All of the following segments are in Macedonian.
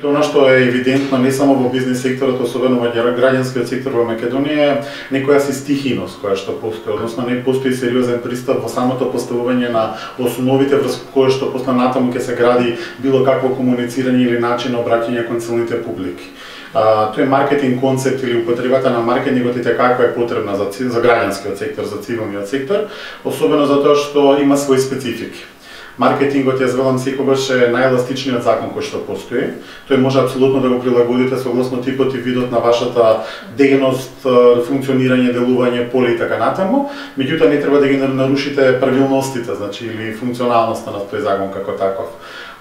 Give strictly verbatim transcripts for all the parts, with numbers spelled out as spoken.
Она што е евидентно не само во бизнес секторот, особено во граѓанскиот сектор во Македонија, некоја си стихиност која што постои, односно не постои сериозен пристап во самото поставување на основите врз кои што после натаму ќе се гради било какво комуницирање или начин на обраќање кон целните публики. А, тој маркетинг концепт или употребата на маркетингот и како е потребна за, за граѓанскиот сектор, за цивилниот сектор, особено затоа што има свои специфики. Маркетингот, јас велам, секогаш е најеластичниот закон кој што постои. Тој може апсолутно да го прилагодите согласно типот и видот на вашата дејност, функционирање, делување, поле и така натаму, меѓутоа не треба да ги нарушите правилностите, значи или функционалноста на тој закон како таков.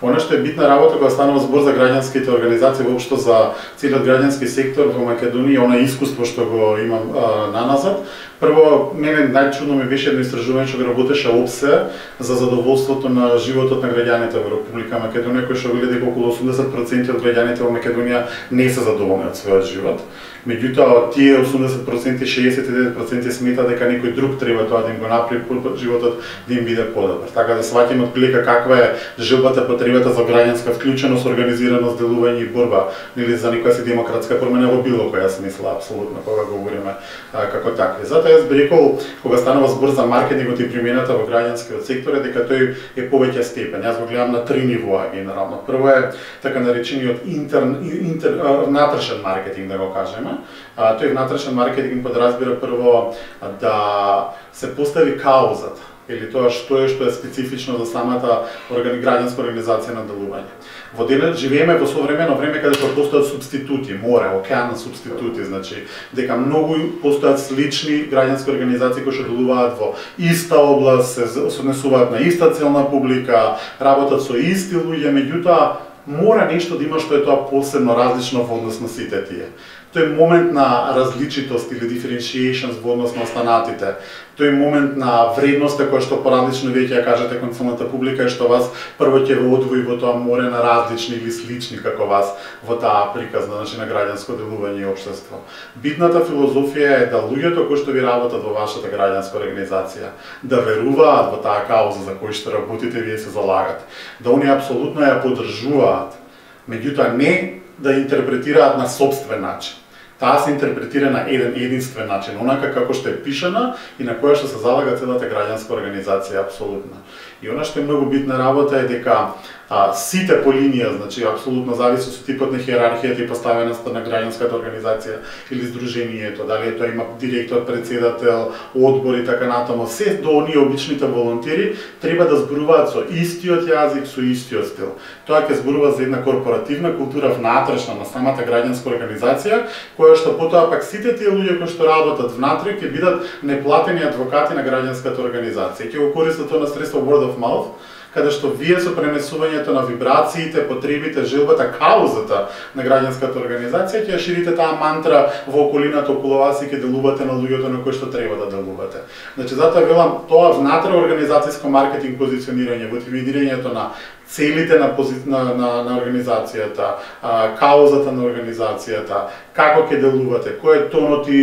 Она што е битна работа кога станува збор за граѓанските организации, воопшто за целиот граѓански сектор во Македонија, она искуство што го имам а, наназад. Прво, мене најчудно ми беше едно истражување што го работеше ОПСЕ за задоволството на животот на граѓаните во Република Македонија, кој што види дека околу осумдесет проценти од граѓаните во Македонија не се задоволни од својот живот. Меѓутоа, тие осумдесет проценти, шеесет и девет проценти смета дека некој друг треба тоа да им го направи животот да им биде подобар. Така да сваќаме отприлика каква е желбата, потребата за граѓанска вклученост, организираност, делување и борба, нели за некоја си демократска промена во било која смисла, апсолутно, кога говориме а, како такви. Затоа јас би рекол, кога станува збор за маркетингот и примената во граѓанскиот сектор, е дека тој е повеќе степен. Јас го гледам на три нивоа генерално. Прво е така наречениот интер, интер, внатрешен маркетинг, да го кажеме. А, тој внатрешен маркетинг подразбира прво да се постави каузата или тоа што е што е специфично за самата органи, граѓанска организација на делување. Во денот живееме во современо време каде што постојат субститути, море, океан на субститути, значи дека многу постојат слични граѓански организации кои што делуваат во иста област, се однесуваат на иста целна публика, работат со исти луѓе, меѓутоа мора нешто да има што е тоа посебно различно во однос на сите тие. Тој момент на различитост или differentiation во однос на останатите, тој момент на вредноста која што поразлично веќе ја кажете кон целната публика е што вас прво ќе ве одвои во тоа море на различни или слични како вас во таа приказна, значи на граѓанско делување и општество. Битната филозофија е да луѓето кои што ви работат во вашата граѓанска организација да веруваат во таа кауза за која што работите, вие се залагате, да оние апсолутно ја поддржуваат, меѓутоа не да интерпретираат на сопствен начин. Таа се интерпретира на еден единствен начин, онака како што е пишана и на која што се залага целата граѓанска организација апсолутно. И она што е многу битна работа е дека а, сите по линија, значи апсолутно зависи со типот на хиерархијата и поставеноста на граѓанската организација или здруженијето, дали тоа има директор, председател, одбор и така натаму, се до оние обичните волонтери треба да зборуваат со истиот јазик, со истиот стил. Тоа ќе зборува за една корпоративна култура внатрешна на самата граѓанска организација, која што потоа пак сите тие луѓе кои што работат внатре ќе бидат неплатени адвокати на граѓанската организација. Ќе го користат тоа на средство word of mouth, каде што вие со пренесувањето на вибрациите, потребите, желбата, каузата на граѓанската организација ќе ја ширите таа мантра во околината околу вас и ќе делувате на луѓето на кои што треба да делувате. Значи затоа велам тоа внатре организацијско маркетинг позиционирање, во дефинирањето на целите на, пози... на, на, на организацијата, а, каузата на организацијата, како ќе делувате, кој е тонот и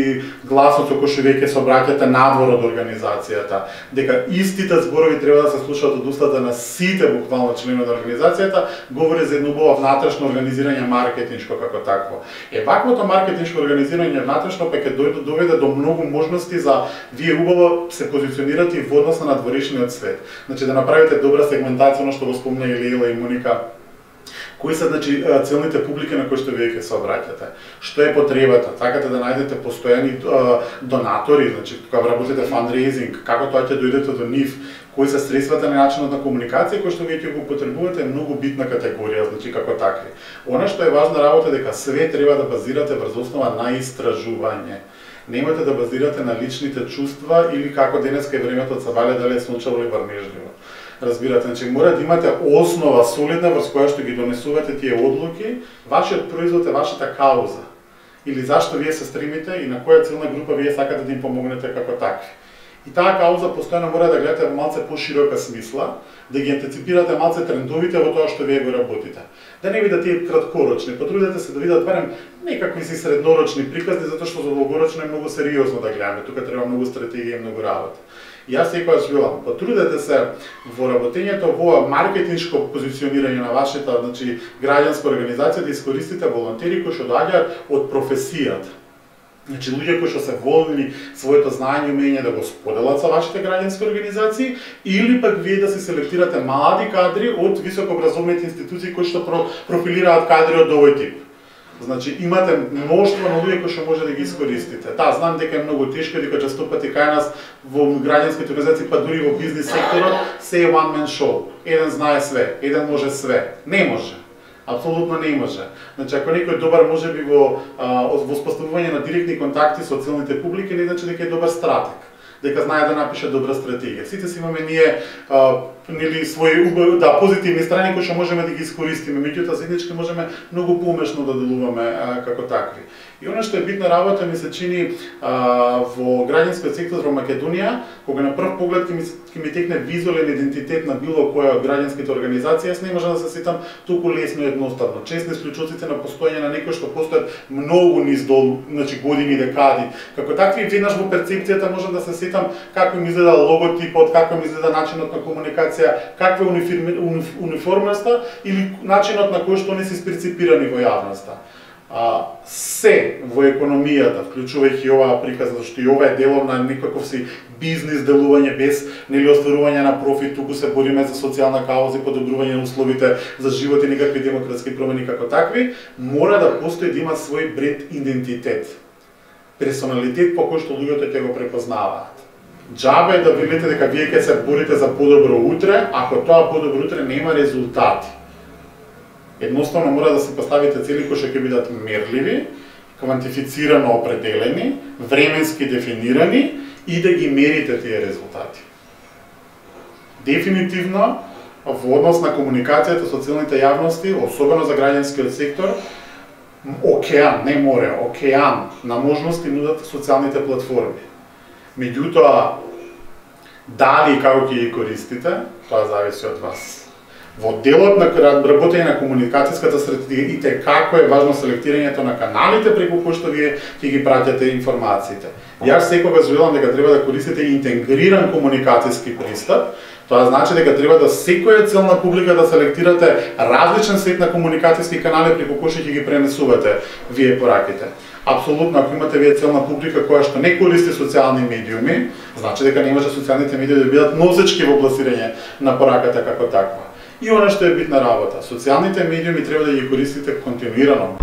гласот со кој што веќе се обраќате надвор од организацијата, дека истите зборови треба да се слушаат од устата на сите буквално членови на организацијата, говори за едно убаво внатрешно организирање маркетиншко како такво. Е ваквото маркетиншко организирање внатрешно пак ќе доведе до многу можности за вие убаво се позиционирате во однос на надворешниот свет. Значи да направите добра сегментација, она што го спомна Лейла и Моника, кои се значи целните публики на кои што вие ќе се обраќате, што е потребата, сакате да најдете постојани донатори, значи кога работите фандрейзинг, како тоа ќе дојдете до нив, кои се средствата на начинот на комуникација кои што вие ќе го употребувате е многу битна категорија, значи како такви. Она што е важна работа дека све треба да базирате врз основа на истражување. Немате да базирате на личните чувства или како денеска е времето од сабале дали е сончево или врнежливо. Разбирате, значи мора да имате основа солидна врз која што ги донесувате тие одлуки, вашиот производ е вашата кауза. Или зашто вие се стремите и на која целна група вие сакате да им помогнете како такви. И таа кауза постојано мора да гледате во малце поширока смисла, да ги антиципирате малце трендовите во тоа што вие го работите. Да не видат тие краткорочни, потрудете се да видат барем некакви си среднорочни приказни, затоа што за долгорочно е многу сериозно да гледаме, тука треба многу стратегија и многу работа. Јас секогаш велам, потрудете се во работењето во маркетиншко позиционирање на вашата, значи, граѓанска организација да искористите волонтери кои што доаѓаат од професијата. Значи, луѓе кои што се волни своето знаење и умење да го споделат со вашите граѓански организации, или пак вие да се селектирате млади кадри од високообразовните институции кои што профилираат кадри од овој тип. Значи, имате мноштво на луѓе кои што може да ги искористите. Да, знам дека е многу тешко, дека често пати кај нас во граѓанските организации, па дури во бизнис секторот, се е one man show. Еден знае све, еден може све. Не може. Апсолутно не може. Значи, ако некој добар може би во воспоставување на директни контакти со целните публики, не значи дека е добар стратег, дека знае да напише добра стратегија. Сите си имаме ние а, нели свои да позитивни страни кои што можеме да ги искористиме, меѓутоа заеднички можеме многу поумешно да делуваме а, како такви. И она што е битна работа ми се чини а, во граѓанскиот сектор во Македонија, кога на прв поглед ќе ми, ќе ми текне визуелен идентитет на било која од граѓанските организации, јас не можам да се сетам толку лесно и едноставно. Честни исклучоците на постоење на некои што постојат многу низ дол, значи години, декади. Како такви веднаш во перцепцијата можам да се сетам како ми изгледа логотипот, како ми изгледа начинот на комуникација, каква е униформата или начинот на кој што не се перцепирани во јавноста. А, се во економијата, вклучувајќи оваа приказа, зашто и ова е делом на некаков си бизнис делување без нели остварување на профит, туку се бориме за социјална кауза и подобрување на условите за живот и некакви демократски промени како такви, мора да постои да има свој бренд идентитет, персоналитет по кој што луѓето ќе го препознаваат. Џабе е да велите дека вие ќе се борите за подобро утре, ако тоа подобро утре нема резултати. Едноставно мора да се поставите цели кои што ќе бидат мерливи, квантифицирано определени, временски дефинирани и да ги мерите тие резултати. Дефинитивно, во однос на комуникацијата со целните јавности, особено за граѓанскиот сектор, океан, не море, океан на можности нудат социјалните платформи. Меѓутоа, дали и како ќе ги користите, тоа зависи од вас. Во делот на работење на комуникацијската стратегија и те како е важно селектирањето на каналите преку кои што вие ќе ги праќате информациите. Јас секогаш велам дека треба да користите интегриран комуникацијски пристап. Тоа значи дека треба да секоја целна публика да селектирате различен сет на комуникацијски канали преку кои што ќе ги пренесувате вие пораките. Апсолутно, ако имате вие целна публика која што не користи социјални медиуми, значи дека не може социјалните медиуми да бидат носечки во пласирање на пораката како таква. И она што е битна работа, социјалните медиуми треба да ги користите континуирано.